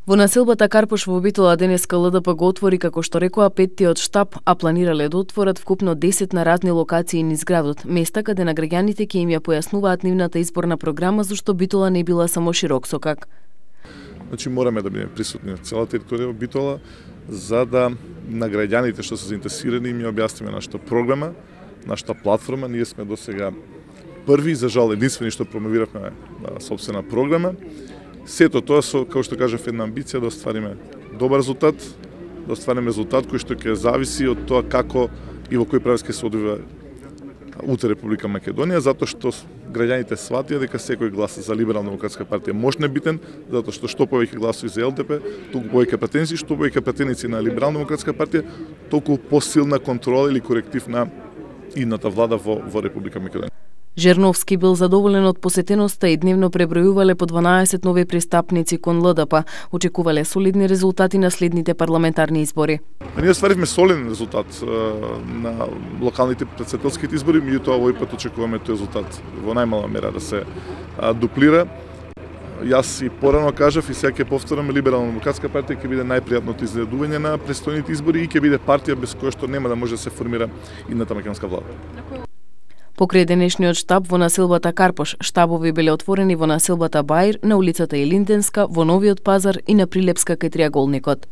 Во населбата Карпош во Битола денеска ЛДП го отвори, како што рекоа, 5-тиот штаб, а планирале да отворат вкупно 10 на разни локации низ градот, места каде на граѓаните ќе им ја појаснуваат нивната изборна програма, зашто Битола не била само широк сокак. Значи мораме да бидеме присутни на цела територија во Битола, за да на граѓаните што се заинтересирани им ја објасниме нашата програма, нашата платформа. Ние сме досега први, за жал единствени што промовиравме сопствена програма. Сето тоа со, како што кажав, една амбиција да оствариме добар резултат, да оствариме резултат кој што ќе зависи од тоа како и во кој правец ќе се одвива утре Република Македонија, затоа што граѓаните сватија дека секој глас за Либерална демократска партија можне битен, затоа што повеќе гласови за ЛДП, толку повеќе пратеници, што повеќе пратеници на Либерална демократска партија, толку посилна контрола или коректив на идната влада во Република Македонија. Жерновски бил задоволен од посетеноста и дневно пребројувале по 12 нови пристапници кон ЛДП. Очекувале солидни резултати на следните парламентарни избори. Ние остваривме солиден резултат на локалните претседателските избори, меѓутоа овој пат очекуваме тој резултат во најмала мера да се дуплира. Јас и порано кажав и сега ќе повторам, Либерална демократска партија ќе биде најпријатното изненадување на престојните избори и ќе биде партија без која што нема да може да се формира идната македонска влада. Покрај денешниот штаб во населбата Карпош, штабови биле отворени во населбата Баир, на улицата Илинденска, во Новиот пазар и на Прилепска кај Триаголникот.